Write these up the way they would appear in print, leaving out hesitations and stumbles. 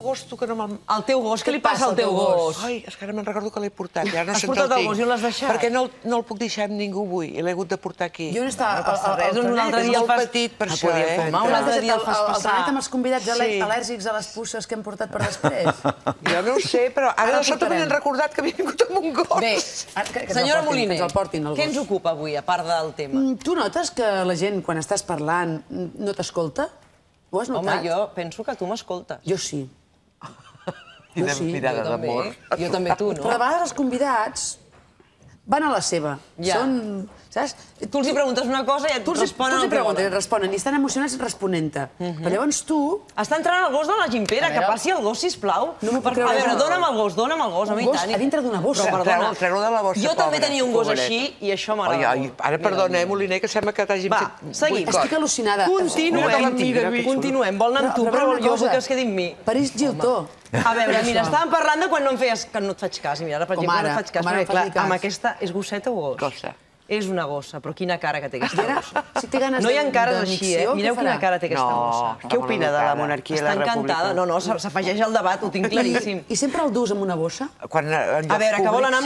Gos, tu que no me'l... El teu gos, què li passa al teu gos? Ai, és que ara me'n recordo que l'he portat, ja no sé on portat el el gos i on l'has deixat? Perquè no el puc deixar amb ningú avui, i l'he hagut de portar aquí. Jo no estava... No passa res, un altre dia És el molt fas... petit per això, eh? Home, un altre dia el fas El passar. planet amb els convidats al·lèrgics a les puces que hem portat per després. Jo no ho sé, però ara de sobte m'han recordat que havia vingut amb un gos. Bé, senyora Moliner, que ens el portin, el què ens gos. ocupa avui, a part del tema? Tu notes que la gent, quan estàs parlant, no t'escolta? Ho has Home, notat? jo penso que tu m'escoltes. Jo sí. Quina mirada d'amor. Jo també, tu, no? Però de vegades els convidats van a la seva. Ja. Són, saps? Tu els hi preguntes una cosa i et responen el que preguntes, volen. responen, i estan emocionats responent-te. Però llavors tu... Està entrant el gos de la Gimpera, que passi el gos, sisplau. No m'ho puc creure. A veure, dona'm el gos, a mi Un gos tant. a dintre d'una bossa. Però perdona, Treu-lo de la bossa, jo també pobre, tenia un gos pobret. així i això m'agrada molt. Ara, perdona, Moliner, que sembla que t'hagin Va, fet... seguim. Estic al·lucinada. Continuem. Vol anar amb tu, però jo vull que es quedi amb mi. Paris Giltó. A veure, mira, estàvem parlant de quan no em feies... que no et faig cas. I mira, ara, per exemple, no et faig cas. Perquè, clar, amb aquesta és gosseta o gos? Gossa. És una gossa, però quina cara que té aquesta gossa. Si té ganes No hi ha de cares així, eh? micció, Mireu què farà? quina cara té aquesta gossa. Què opina de la monarquia i la Està república? encantada. No, s'afegeix al debat, ho tinc claríssim. I sempre el dus amb una bossa? A veure, que vol anar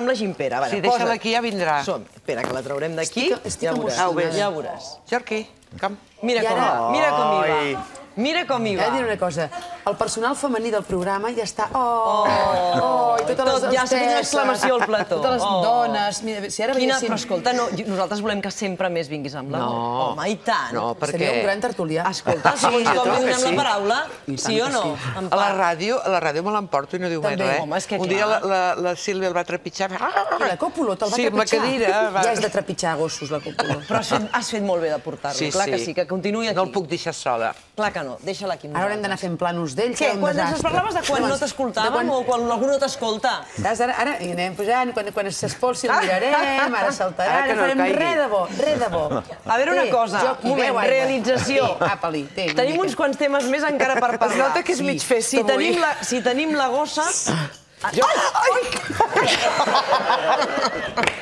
amb la Gimpera. Si deixa-la aquí ja vindrà. Som. Espera, que la traurem d'aquí. Estic Ja veuràs. emocionada. Ja veuràs. Jorqui, com? Mira com hi va. Mira com hi He va. de dir una cosa. El personal femení del programa ja està... I totes les Ja s'ha fet una hostesses, exclamació al plató. Totes les dones... Mira, si ara Quina... veiéssim... Però escolta, nosaltres volem que sempre més vinguis amb la... Home, i tant. No, perquè... Seria un gran tertulià. Escolta, segons com li donem la paraula, sí o no? A la ràdio me l'emporto i no diu mai També. res. Home, és que Un dia clar. la Sílvia el va trepitjar. I la Còpolo te'l va Sí, amb la trepitjar. cadira. Ja és de trepitjar gossos, la Còpolo. Però has fet molt bé de portar-lo. Clar que sí, que continuï aquí. No el puc deixar sola. Clar que no, deixa-la aquí amb Ara haurem d'anar fent planos d'ell, Què? serà un Quan ens desastre. parlaves de quan no t'escoltàvem o quan algú no t'escolta? Saps? Ara hi anem pujant, quan s'espolsi el mirarem, ara saltarà, Ara que ara no farem caigui. res de bo, res de bo. A veure una cosa, un moment, realització. Apa-li, té. Tenim uns quants temes més encara per parlar. Es nota que és mig festa avui. Si tenim la gossa...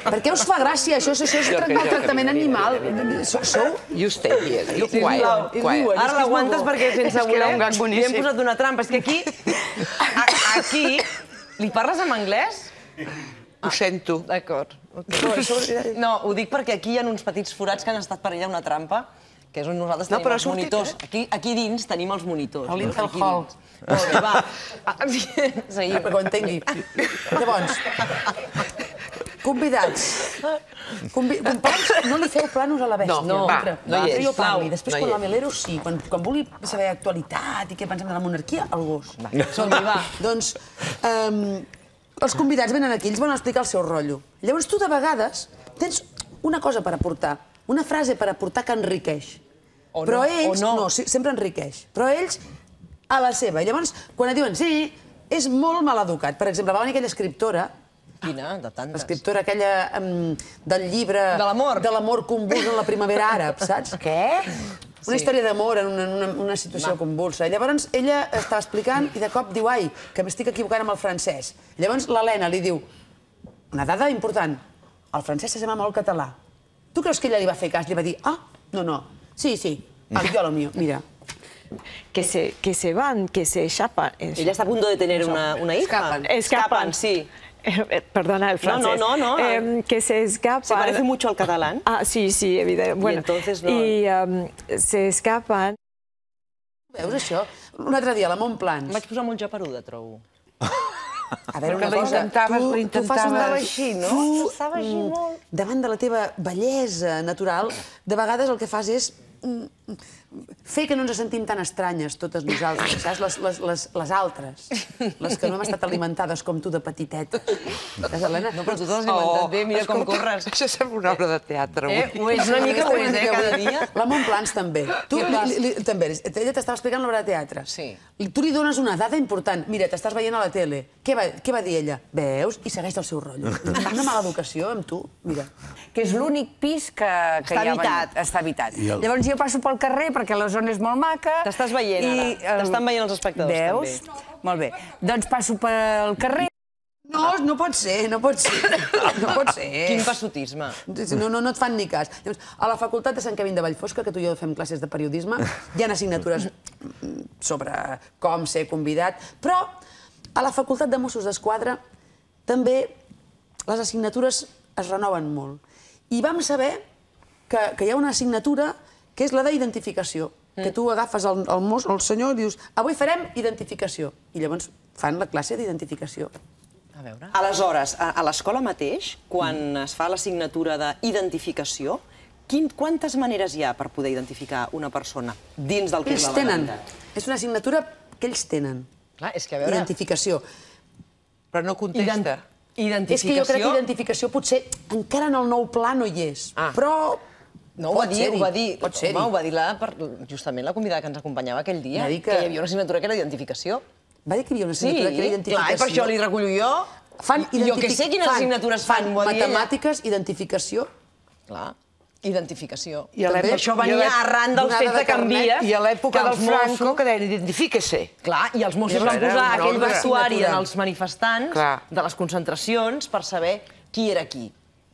Per què us fa gràcia? Això és maltractament animal. Sou? You stay here. You quiet. Ara l'aguantes perquè sense voler era un gag li hem boníssim. posat una trampa. És que aquí... Li parles en anglès? Ho sento. D'acord. No, ho dic perquè aquí hi ha uns petits forats que han estat per allà una trampa, que és on nosaltres tenim però els ha sortit, monitors. Aquí dins tenim els monitors. A l'Intel Aquí Hall. dins. Molt bé, va. Seguim. Perquè ho entengui. Llavors, convidats. Companys, no li feu planos a la bèstia. No, va, no hi és, Jo parli. sisplau. Després, No hi quan és. la Melero, sí. Quan vulgui saber actualitat i què pensem de la monarquia, el gos. Som-hi, va. Doncs, els convidats venen aquí, ells van explicar el seu rotllo. Llavors, tu, de vegades, tens una cosa per aportar, una frase per aportar que enriqueix. O no, Però ells, o no. no, sí, sempre enriqueix. Però ells, a la seva. Llavors, quan et diuen sí, és molt mal educat. Per exemple, va venir aquella escriptora, Quina? De tantes. l'escriptora aquella del llibre... De l'amor. De l'amor convuls en la primavera àrab, saps? Què? Una història d'amor en una situació convulsa. Llavors, ella estava explicant i de cop diu, ai, que m'estic equivocant amb el francès. Llavors, l'Helena li diu, una dada important, el francès se llama molt català. Tu creus que ella li va fer cas? Li va dir, no, sí, yo lo mío, mira. Que se van, que se escapan. Ella está a punto de tener una hija. Escapan, sí. Perdona el francés. No. Que se escapan. ¿Se parece mucho al catalán? Ah, sí, evidente. Bueno, entonces no. Y se escapan. Veus això? Un altre dia, a la Montplans. Em vaig posar molt japeruda, trobo. A veure, una Però cosa, tu fas una... Estava així, no? Estava així molt... Davant de la teva bellesa natural, de vegades el que fas és fer que no ens sentim tan estranyes, totes nosaltres, saps? Les altres, les que no hem estat alimentades com tu de petitetes. Saps, Helena? No, però tu t'has alimentat bé, mira com corres. Això sembla una obra de teatre. Ho és una mica, ho és, cada dia. La Montplans també. Tu també, ella t'estava explicant l'obra de teatre. Sí. Tu li dones una dada important. Mira, t'estàs veient a la tele. Què va dir ella? Veus? I segueix el seu rotllo. Una mala educació amb tu, mira. Que és l'únic pis que Està habitat. Està habitat. Llavors jo passo pel carrer perquè la zona és molt maca. T'estàs veient ara. T'estan veient els espectadors, també. Veus? Molt bé. Doncs passo pel carrer. No, No pot ser, no pot ser. No pot ser. Quin passotisme. No et fan ni cas. Llavors, a la facultat de Sant Quevin de Vallfosca, que tu i jo fem classes de periodisme, hi ha assignatures sobre com ser convidat, però a la facultat de Mossos d'Esquadra també les assignatures es renoven molt. I vam saber que hi ha una assignatura que és la d'identificació, que tu agafes el senyor i dius avui farem identificació. I llavors fan la classe d'identificació. A veure. Aleshores, a l'escola mateix, quan es fa l'assignatura d'identificació, quantes maneres hi ha per poder identificar una persona dins del que és la legalitat? És una assignatura que ells tenen. Clar, és que a veure... Identificació. Però no contesta. És que jo crec que identificació potser encara en el nou pla no hi és, però... No, ho va dir, Pot ser-hi. ho va dir justament la convidada que ens acompanyava aquell dia, Va dir que hi havia una assignatura que era identificació. Va dir que hi havia una assignatura que era identificació. Clar, i per això li recullo jo. Jo que sé quines assignatures fan, ho va dir ella. Matemàtiques, identificació. Clar, identificació. I això venia arran del fet de canviar. I a l'època del Franco, que deien identifica-se. Clar, i els Mossos van posar aquell vestuari en els manifestants de les concentracions per saber qui era qui.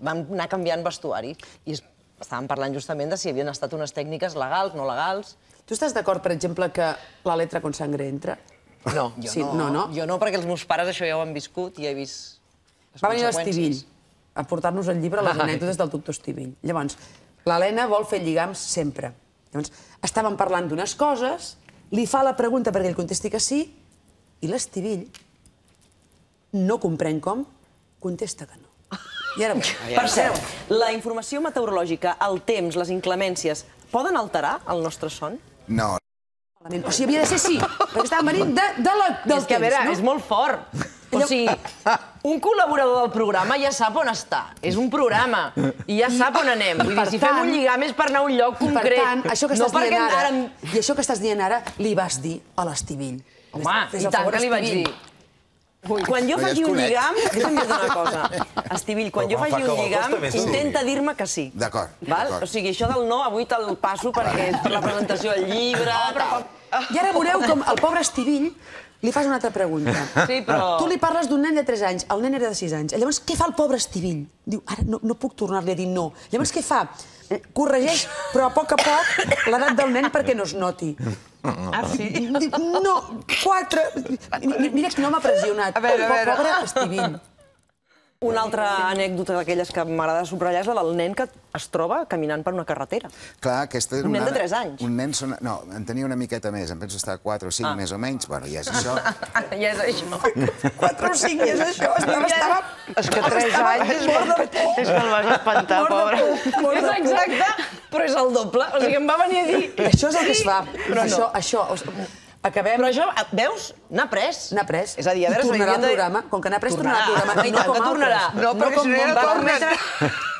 Van anar canviant vestuari. I estàvem parlant justament de si havien estat unes tècniques legals, no legals. Tu estàs d'acord, per exemple, que la letra con sangre entra? No. Jo no, perquè els meus pares això ja ho han viscut i he vist les Va venir conseqüències. l'Estivill a portar-nos el llibre Les anècdotes del doctor Estivill. Llavors, l'Helena vol fer lligams sempre. Llavors, estàvem parlant d'unes coses, li fa la pregunta perquè ell contesti que sí, i l'Estivill, no comprèn com, contesta que no. I ara Per cert, la informació meteorològica, el temps, les inclemències, poden alterar el nostre son? No. O sigui, havia de ser sí, perquè estàvem venint del temps. És que, a veure, és molt fort. O sigui, un col·laborador del programa ja sap on està. És un programa. I ja sap on anem. Vull dir, si fem un lligam és per anar a un lloc concret. I per tant, això que estàs dient ara, li vas dir a l'Estivill. Home, i tant que li vaig dir. Quan jo faci un lligam, deixa'm dir una cosa. Estivill, quan jo faci un lligam, intenta dir-me que sí. D'acord. O sigui, això del no, avui te'l passo perquè és per la presentació del llibre... I ara veureu com el pobre Estivill li fas una altra pregunta. Sí, però... Tu li parles d'un nen de 3 anys, el nen era de 6 anys. Llavors, què fa el pobre Estivill? Diu, ara no puc tornar-li a dir no. Llavors, què fa? Corregeix, però a poc l'edat del nen perquè no es noti. Ah, sí? No, 4... Mira que no m'ha pressionat. Pobre Estivill. Una altra anècdota d'aquelles que m'agrada subratllar és la del nen que es troba caminant per una carretera. Clar, aquesta era Un nen de 3 anys. Un nen... No, en tenia una miqueta més, em penso estar 4 o 5 més o menys. Bueno, ja és això. Ja és això. 4 o 5 és això. Estava... És que 3 anys és mort de por. És que el vas espantar, pobre. És exacte, però és el doble. O sigui, em va venir a dir... Això és el que es fa. Això... Acabem... Però això, veus? N'ha pres. N'ha pres. És a dir, a veure... I tornarà al programa. Com que n'ha pres, tornarà al programa. I tant que tornarà. No, perquè si no ja no tornen.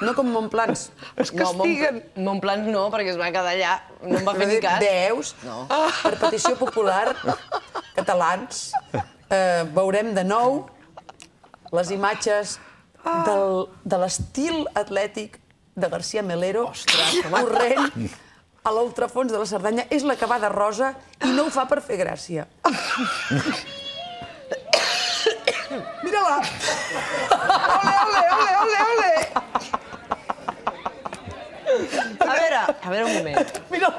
No com Montplans. Es castiguen. Montplans no, perquè es va quedar allà. No em va fer ni cas. Veus? Per petició popular, catalans, veurem de nou les imatges de l'estil atlètic de García Melero corrent a l'ultrafons de la Cerdanya. És la que va de rosa i no ho fa per fer gràcia. Mira-la! Ole! A veure un moment. Mira,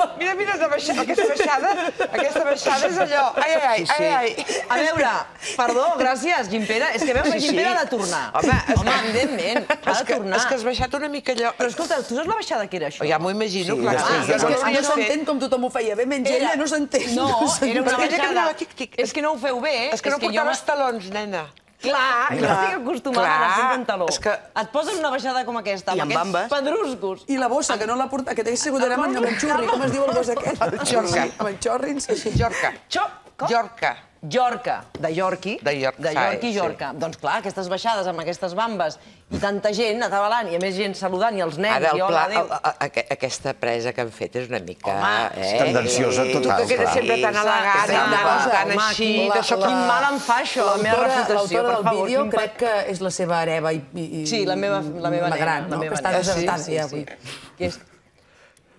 aquesta baixada és allò. Ai. A veure, perdó, gràcies, Gimpera. És que veus, la Gimpera ha de tornar. Home, evidentment, ha de tornar. És que has baixat una mica allò. Però escolta, tu saps la baixada que era això? Ja m'ho imagino, clar. No s'entén com tothom ho feia bé, menys ella no s'entén. No, era una baixada. Tic-tic. És que no ho feu bé. És que no portaves talons, nena. Clar, jo estic acostumada a anar sempre en taló. És que... Et poses una baixada com aquesta, amb aquests pedruscos. I la bossa, que no l'ha portat, que t'hagués sigut d'anar amb el xurri, com es diu el gos aquest? El xorca. Amb el xorri, sí. Jorca. Jorca. Jorca, de Yorki. De Yorkshire, De York i Jorca. Doncs clar, aquestes baixades amb aquestes bambes i tanta gent atabalant i a més gent saludant i els nens Ara, i hola, adéu. aquesta presa que han fet és una mica... És tendenciosa total. Tu que eres sempre tan elegant, tan així... Quin mal em fa això, la meva reputació, per del favor. vídeo crec que és la seva hereva i... Sí, la meva nena. gran, no? Que està desertada ja avui.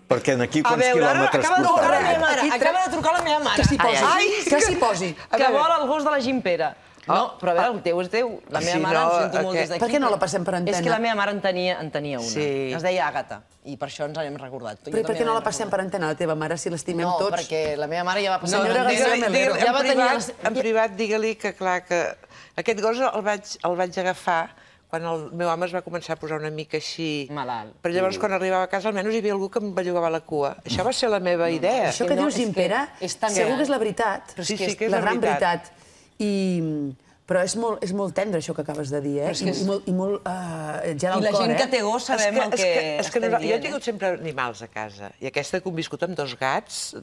Perquè aquí A quants veure, ara quilòmetres acaba de trucar la portarà? meva mare. Acaba de trucar la meva mare. Que s'hi posi. Que vol el gos de la Gimpera. No, però a veure, el teu és teu. La meva mare, ho sento molt des d'aquí. Per què no la passem per antena? És que la meva mare en tenia una. Sí. Es deia Àgata. I per això ens n'hem recordat. Però per què no la passem per antena, la teva mare, si l'estimem tots? No, perquè la meva mare ja va passar... Senyora García Melero. Ja va tenir... En privat, digue-li que, clar, que aquest gos el vaig agafar quan el meu home es va començar a posar una mica així... Malalt. Però llavors, quan arribava a casa, almenys hi havia algú que em bellugava la cua. Això va ser la meva idea. Això que dius, Gimpera, segur que és la veritat. Sí, que és la gran veritat. Però és molt tendre, això que acabes de dir, eh? I molt gel al cor, eh? I la gent que té gos sabem el que estem dient. Jo he tingut sempre animals a casa, i aquesta he conviscut amb 2 gats,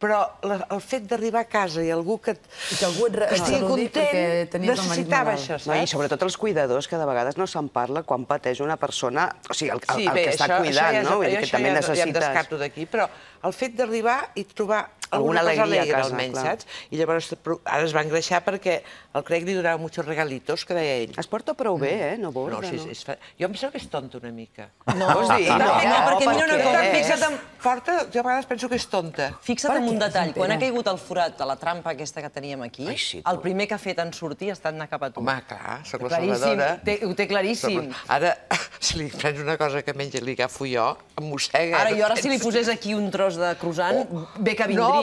però el fet d'arribar a casa i algú que algú et estigui content, necessitava això, saps? I sobretot els cuidadors, que de vegades no se'n parla quan pateix una persona, o sigui, el que està cuidant, no? Vull dir que també necessites... Ja em descarto d'aquí, però el fet d'arribar i trobar alguna cosa alegre, almenys, saps? I llavors ara es va engreixar perquè el Craig li donava muchos regalitos, que deia ell. Es porta prou bé, no borda, no? Jo em sembla que és tonta una mica. No, perquè mira una cosa, fixa't en... Jo a vegades penso que és tonta. Fixa't en un detall, quan ha caigut el forat de la trampa aquesta que teníem aquí, el primer que ha fet en sortir ha estat anar cap a tu. Home, clar, soc la salvadora. Ho té claríssim. Ara, si li prens una cosa que menja li agafo jo, em mossega. Ara si li posés aquí un tros de croissant, bé que vindria, No,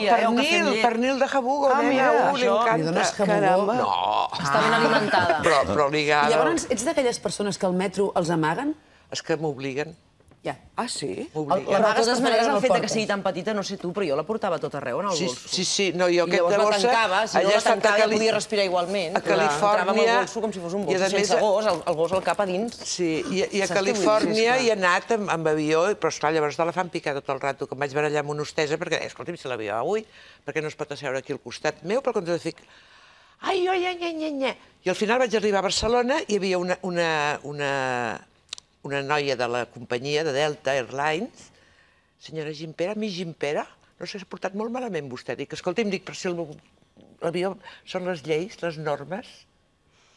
pernil de jabugo, nena, li encanta. Li dones jabugo? No. Està ben alimentada. Però ligada... I llavors, ets d'aquelles persones que al metro els amaguen? És que m'obliguen. Ja. Ah, sí? Però de totes maneres el fet que sigui tan petita, no sé tu, però jo la portava tot arreu en el bolso. Sí, no, jo aquesta bossa... I llavors la tancava, si no la tancava ja podia respirar igualment. A Califòrnia... Entrava amb el bolso com si fos un bolso sense gos, el gos al cap a dins. Sí, i a Califòrnia hi he anat amb avió, però esclar, llavors te la fan picar tot el rato, que em vaig barallar amb una hostessa, perquè, escolta'm, si l'avió avui, perquè no es pot asseure aquí al costat meu, per contra de fic... Ai, I al final vaig arribar a Barcelona i hi havia una noia de la companyia de Delta Airlines, senyora Gimpera, mi Gimpera, no s'ha portat molt malament vostè. Dic, escolta, em dic, però si l'avió són les lleis, les normes,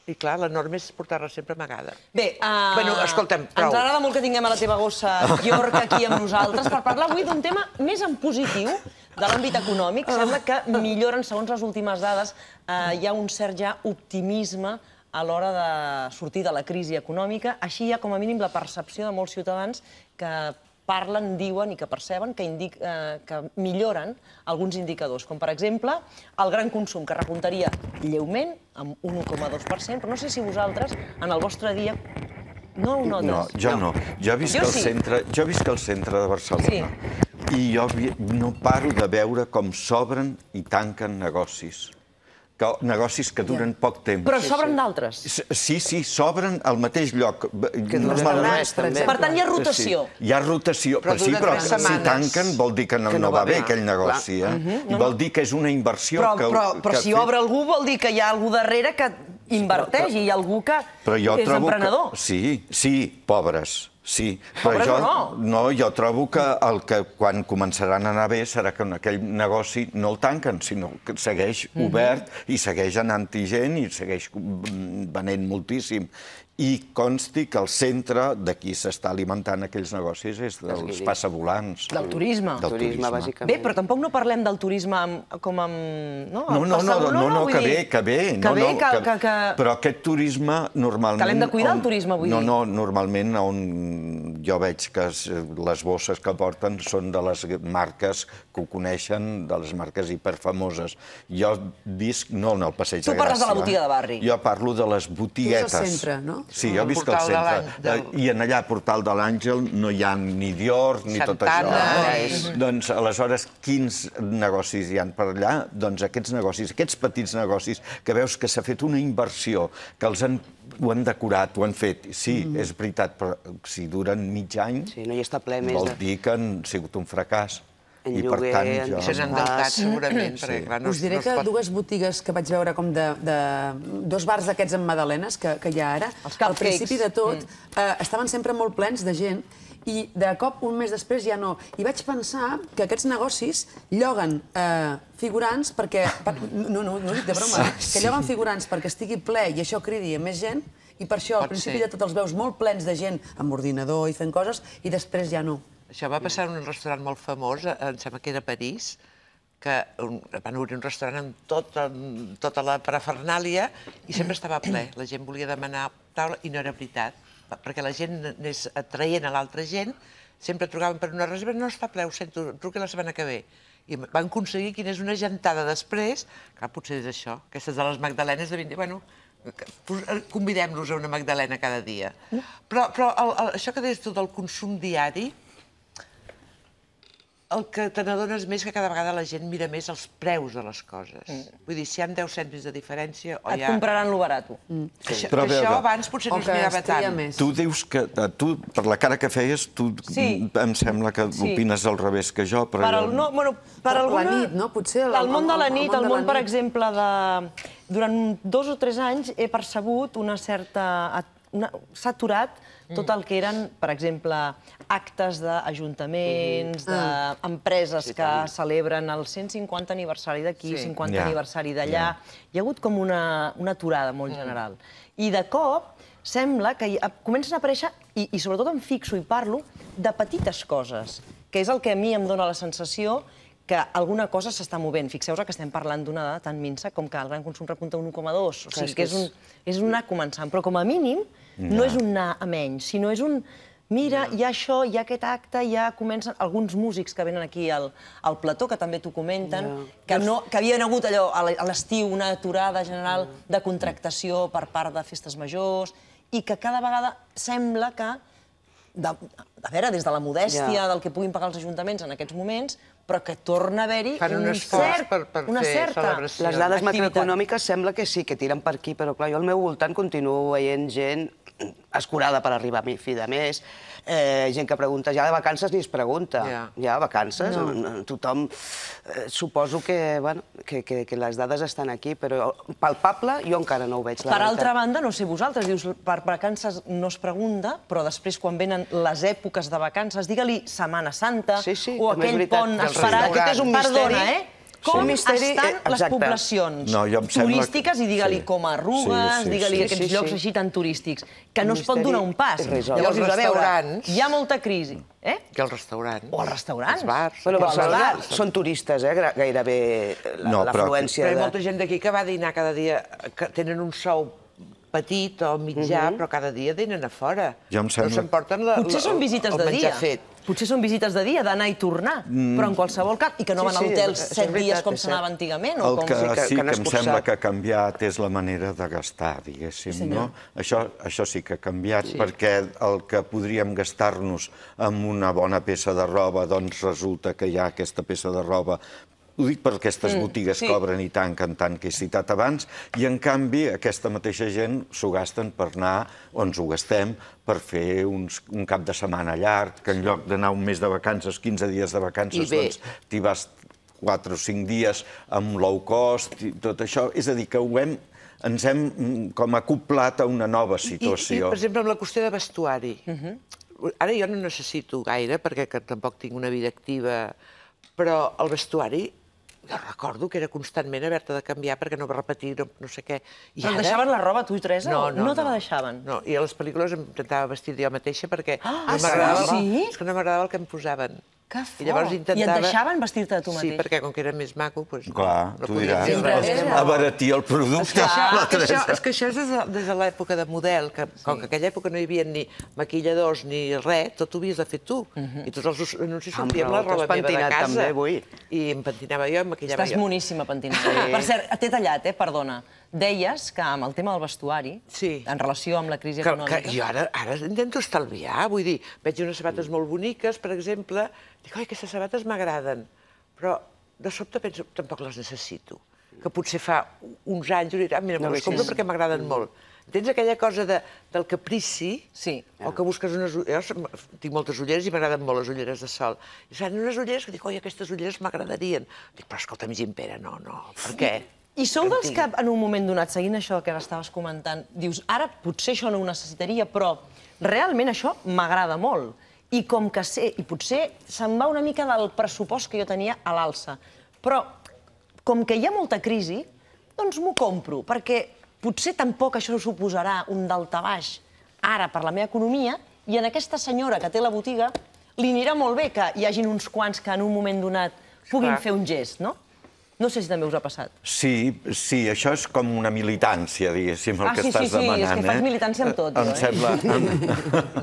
i clar, la norma és portar-la sempre amagada. Bé, bueno, escolta'm, prou. Ens agrada molt que tinguem a la teva gossa York aquí amb nosaltres per parlar avui d'un tema més en positiu de l'àmbit econòmic. Sembla que milloren, segons les últimes dades, hi ha un cert ja optimisme a l'hora de sortir de la crisi econòmica. Així hi ha, com a mínim, la percepció de molts ciutadans que parlen, diuen i que perceben que milloren alguns indicadors, com per exemple el gran consum, que repuntaria lleument amb un 1,2%, però no sé si vosaltres, en el vostre dia, no ho notes. No, jo no. Jo visc al centre de Barcelona i jo no paro de veure com s'obren i tanquen negocis. Negocis que duren poc temps. Però s'obren d'altres? Sí, s'obren al mateix lloc. Per tant, hi ha rotació. Hi ha rotació, però si tanquen vol dir que no va bé aquell negoci. Vol dir que és una inversió que... Però si obre algú vol dir que hi ha algú darrere que inverteix i hi ha algú que és emprenedor. Sí, pobres. Sí, però jo trobo que quan començaran a anar bé serà que aquell negoci no el tanquen, sinó que segueix obert i segueix anant-hi gent i segueix venent moltíssim. I consti que el centre de qui s'està alimentant aquells negocis és dels passavolants. Del turisme. Del turisme, bàsicament. Bé, però tampoc no parlem del turisme com amb... No, que bé. Però aquest turisme normalment... Que l'hem de cuidar, el turisme, vull dir. No, normalment on jo veig que les bosses que porten són de les marques que ho coneixen, de les marques hiperfamoses. Jo visc, no en el Passeig de Gràcia. Tu parles de la botiga de barri. Jo parlo de les botiguetes. Tu és al centre, no? Sí, jo visc al centre. I en allà, Portal de l'Àngel, no hi ha ni Dior ni tot això. Doncs, aleshores, quins negocis hi ha per allà? Doncs aquests negocis, aquests petits negocis, que veus que s'ha fet una inversió, que ho han decorat, ho han fet. Sí, és veritat, però si duren mig any, vol dir que han sigut un fracàs. I per tant, jo... S'han endeutat, segurament, perquè clar, no es pot... Us diré que dues botigues que vaig veure com dos bars d'aquests amb magdalenes que hi ha ara, al principi de tot, estaven sempre molt plens de gent i de cop, un mes després, ja no. I vaig pensar que aquests negocis lloguen figurants perquè... No ho dic de broma. Que lloguen figurants perquè estigui ple i això cridi a més gent i per això, al principi de tot, els veus molt plens de gent amb ordinador i fent coses i després ja no. Això va passar en un restaurant molt famós, em sembla que era a París, que van obrir un restaurant amb tota la parafernàlia i sempre estava ple. La gent volia demanar taula i no era veritat, perquè la gent anés atraient a l'altra gent, sempre trucaven per una reserva, no està ple, ho sento, truqui la setmana que ve. I van aconseguir quina és una gentada després, que potser és això, aquestes de les magdalenes devien dir, bueno, convidem-los a una magdalena cada dia. Però això que deies tu del consum diari, el que te n'adones més que cada vegada la gent mira més els preus de les coses. Vull dir, si hi ha 10 cèntims de diferència... Et compraran lo barato. Això abans potser no es mirava tant. Tu dius que, per la cara que feies, tu em sembla que opines al revés que jo, però jo... Per la nit, no? Potser... El món de la nit, el món, per exemple, de... Durant 2 o 3 anys he percebut una certa... S'ha aturat tot el que eren, per exemple, actes d'ajuntaments, d'empreses que celebren el 150 aniversari d'aquí, 50 aniversari d'allà. Hi ha hagut com una aturada molt general. I de cop sembla que comencen a aparèixer, i sobretot em fixo i parlo, de petites coses, que és el que a mi em dóna la sensació que alguna cosa s'està movent. Fixeu-vos que estem parlant d'una dada tan minsa com que el gran consum repunta un 1,2. O sigui, que és un anar començant. Però com a mínim no és un anar a menys, sinó és un... Mira, hi ha això, hi ha aquest acte, ja comencen alguns músics que venen aquí al plató, que també t'ho comenten, que havien hagut allò a l'estiu una aturada general de contractació per part de festes majors i que cada vegada sembla que, a veure, des de la modèstia del que puguin pagar els ajuntaments en aquests moments, però que torna a haver-hi una certa activitat. Les dades macroeconòmiques sembla que sí, que tiren per aquí, però clar, jo al meu voltant continuo veient gent escurada per arribar a fi de mes, gent que pregunta, ja de vacances ni es pregunta. Ja, vacances, tothom... Suposo que les dades estan aquí, però palpable jo encara no ho veig, la veritat. Per altra banda, no sé vosaltres, dius, per vacances no es pregunta, però després quan venen les èpoques de vacances, digue-li Setmana Santa o aquell pont esperat... Aquest és un misteri. Perdona, com estan les poblacions turístiques, i digue-li com a Arrugues, digue-li aquests llocs així tan turístics, que no es pot donar un pas. Llavors dius, a veure, hi ha molta crisi. I els restaurants. O els restaurants. Els bars. Però Barcelona són turistes, gairebé l'afluència. Però hi ha molta gent d'aquí que va a dinar cada dia, que tenen un sou petit o mitjà, però cada dia dinen a fora. No s'emporten el menjar fet. Potser són visites de dia, d'anar i tornar, però en qualsevol cas, i que no van a hotels 7 dies com s'anava antigament. El que sí que em sembla que ha canviat és la manera de gastar, diguéssim. Això sí que ha canviat, perquè el que podríem gastar-nos amb una bona peça de roba, doncs resulta que hi ha aquesta peça de roba. Ho dic per aquestes botigues que obren i tanquen tant que he citat abans, i en canvi aquesta mateixa gent s'ho gasten per anar, o ens ho gastem, per fer un cap de setmana llarg, que en lloc d'anar un mes de vacances, 15 dies de vacances, doncs t'hi vas 4 o 5 dies amb low cost i tot això. És a dir, que ens hem com acoplat a una nova situació. I, per exemple, amb la qüestió de vestuari. Ara jo no necessito gaire, perquè tampoc tinc una vida activa, però el vestuari... Jo recordo que era constantment haver-te de canviar perquè no va repetir no sé què. Però et deixaven la roba, tu i Teresa? No te la deixaven? No, i a les pel·lícules em intentava vestir jo mateixa perquè no m'agradava el que em posaven. Que fort! I et deixaven vestir-te de tu mateix? Sí, perquè com que era més maco, doncs... Clar, tu diràs, abaratir el producte. És que això és des de l'època de model, que com que en aquella època no hi havia ni maquilladors ni res, tot ho havies de fer tu. I tots els anuncis sortíem la roba meva de casa. I em pentinava jo, em maquillava jo. Estàs moníssima pentinada. Per cert, t'he tallat, perdona. Deies que amb el tema del vestuari, en relació amb la crisi econòmica... Jo ara intento estalviar, vull dir, veig unes sabates molt boniques, per exemple, dic, oi, aquestes sabates m'agraden, però de sobte penso, tampoc les necessito. Que potser fa uns anys diré, mira, me les compro perquè m'agraden molt. Tens aquella cosa del caprici, o que busques unes... Jo tinc moltes ulleres i m'agraden molt les ulleres de sol. I fan unes ulleres que dic, oi, aquestes ulleres m'agradarien. Dic, però escolta'm, Gimpera, no, per què? I sou dels que en un moment donat, seguint això que estaves comentant, dius, ara potser això no ho necessitaria, però realment això m'agrada molt. I com que sé, i potser se'n va una mica del pressupost que jo tenia a l'alça, però com que hi ha molta crisi, doncs m'ho compro, perquè potser tampoc això suposarà un daltabaix ara per la meva economia, i en aquesta senyora que té la botiga li anirà molt bé que hi hagin uns quants que en un moment donat puguin fer un gest, no? No sé si també us ha passat. Sí, això és com una militància, diguéssim, el que estàs demanant. Sí, és que faig militància amb tot. Em sembla...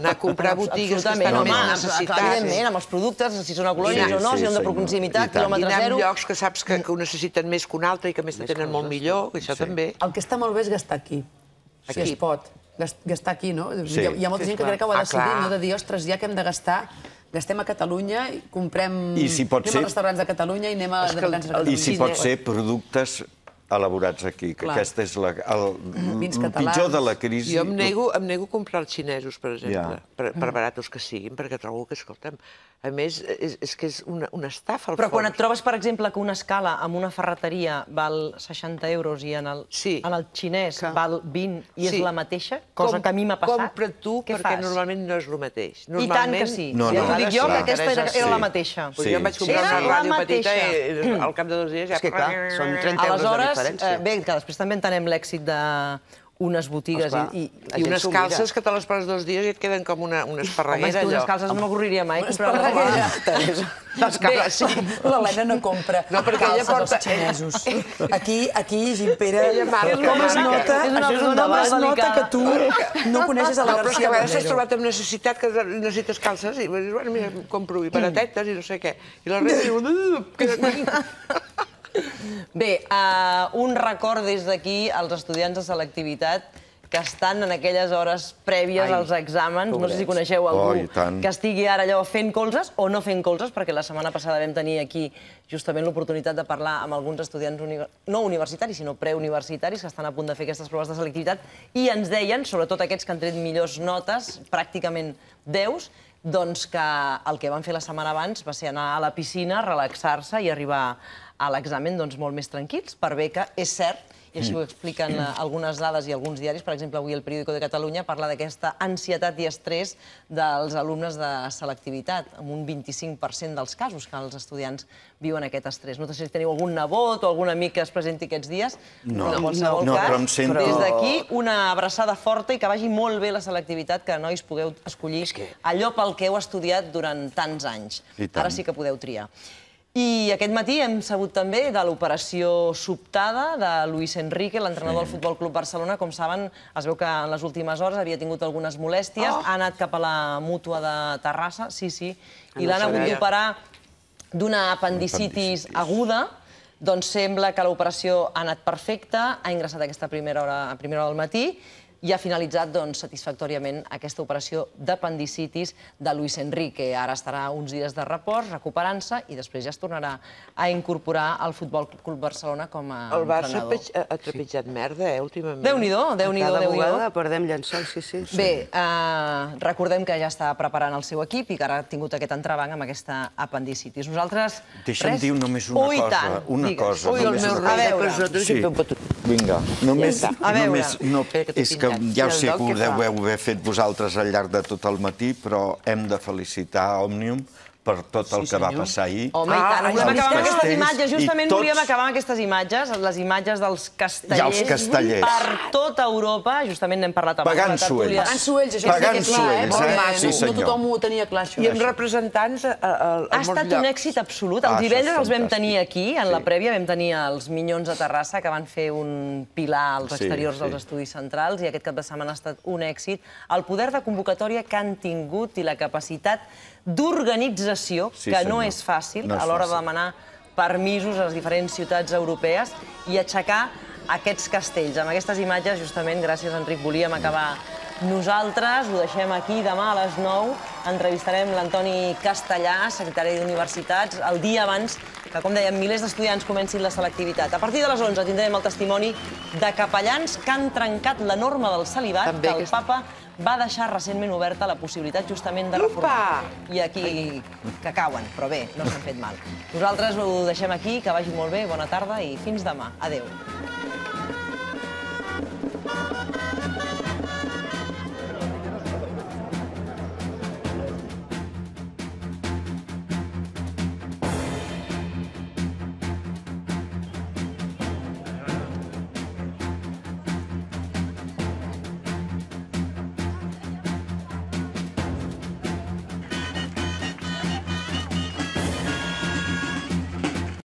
Anar a comprar botigues que estan més necessitats. Evidentment, amb els productes, si són ecològics o no, si són de proximitat, quilòmetre zero. I anar a llocs que saps que ho necessiten més que un altre i que més te tenen molt millor, això també. El que està molt bé és gastar aquí, si es pot. Gastar aquí, no? Hi ha molta gent que crec que ho ha decidit, no? De dir, ostres, ja que hem de gastar, gastem a Catalunya, comprem... Anem als restaurants de Catalunya i anem a restaurants de Catalunya. I si pot ser productes elaborats aquí, que aquest és el pitjor de la crisi. Jo em nego a comprar els xinesos, per exemple, per baratos que siguin, perquè trobo que, escolta'm, a més, és que és una estafa al fons. Però quan et trobes, per exemple, que una escala amb una ferreteria val 60 euros i en el xinès val 20 i és la mateixa, cosa que a mi m'ha passat, compra tu, perquè normalment no és el mateix. I tant que sí. Ja t'ho dic jo, que aquesta era la mateixa. Jo em vaig comprar una ràdio petita i al cap de 2 dies ja... És que clar, són 30 euros de diferència. Bé, que després també entenem l'èxit d'unes botigues i unes calces que te les poses 2 dies i et queden com una esparreguera. Home, unes calces no m'avorriria mai. Una esparreguera. L'Helena no compra calces als xinesos. Aquí, Gimpera, com es nota que tu no coneixes la García Valero. Però és que a vegades t'has trobat amb necessitat que necessites calces i dius, bueno, mira, compro i baratetes i no sé què. I la resta diu... Bé, un record des d'aquí als estudiants de selectivitat que estan en aquelles hores prèvies als exàmens. No sé si coneixeu algú que estigui ara allò fent colzes o no fent colzes, perquè la setmana passada vam tenir aquí justament l'oportunitat de parlar amb alguns estudiants no universitaris, sinó preuniversitaris, que estan a punt de fer aquestes proves de selectivitat, i ens deien, sobretot aquests que han tret millors notes, pràcticament 10, doncs que el que van fer la setmana abans va ser anar a la piscina, relaxar-se i arribar a l'examen molt més tranquils, per bé que és cert, i així ho expliquen algunes dades i alguns diaris, per exemple, avui el Periódico de Catalunya parla d'aquesta ansietat i estrès dels alumnes de selectivitat, amb un 25% dels casos que els estudiants viuen aquest estrès. No sé si teniu algun nebot o algun amic que es presenti aquests dies. No, però em sento... Des d'aquí, una abraçada forta i que vagi molt bé la selectivitat, que nois pugueu escollir allò pel que heu estudiat durant tants anys. Ara sí que podeu triar. I aquest matí hem sabut també de l'operació sobtada de Luis Enrique, l'entrenador del Futbol Club Barcelona. Com saben, es veu que en les últimes hores havia tingut algunes molèsties, ha anat cap a la Mútua de Terrassa, i l'han hagut d'operar d'una apendicitis aguda. Doncs sembla que l'operació ha anat perfecta, ha ingressat a primera hora del matí, i ha finalitzat satisfactòriament aquesta operació d'apendicitis de Luis Enrique. Ara estarà uns dies de repòs, recuperant-se, i després ja es tornarà a incorporar al Futbol Club Barcelona com a entrenador. El Barça ha trepitjat merda, últimament. Déu-n'hi-do, Déu-n'hi-do. Cada vegada perdem llençols, sí. Bé, recordem que ja està preparant el seu equip i que ara ha tingut aquest entrebanc amb aquesta apendicitis. Nosaltres... Deixa'm dir només una cosa. Ui, el meu rei. Vinga, només... És que ja ho sé que ho deu haver fet vosaltres al llarg de tot el matí, però hem de felicitar Òmnium per tot el que va passar ahir. Home, i tant. Volem acabar amb aquestes imatges. Justament volíem acabar amb aquestes imatges, les imatges dels castellers per tota Europa. Justament n'hem parlat amb la tertúlia. Pagant-s'ho ells, això és clar, no tothom ho tenia clar, això. I amb representants a molts llocs. Ha estat un èxit absolut. Els divendres els vam tenir aquí, en la prèvia vam tenir els Minyons de Terrassa, que van fer un pilar als exteriors dels estudis centrals, i aquest cap de setmana ha estat un èxit. El poder de convocatòria que han tingut i la capacitat d'organització, que no és fàcil a l'hora de demanar permisos a les diferents ciutats europees i aixecar aquests castells. Amb aquestes imatges, justament, gràcies, Enric, volíem acabar nosaltres. Ho deixem aquí. Demà a les 9 entrevistarem l'Antoni Castellà, secretari d'Universitats, el dia abans que, com dèiem, milers d'estudiants comencin la selectivitat. A partir de les 11 tindrem el testimoni de capellans que han trencat la norma del celibat, que el papa va deixar recentment oberta la possibilitat justament de reformar. I aquí que cauen, però bé, no s'han fet mal. Nosaltres ho deixem aquí, que vagi molt bé, bona tarda i fins demà. Adéu.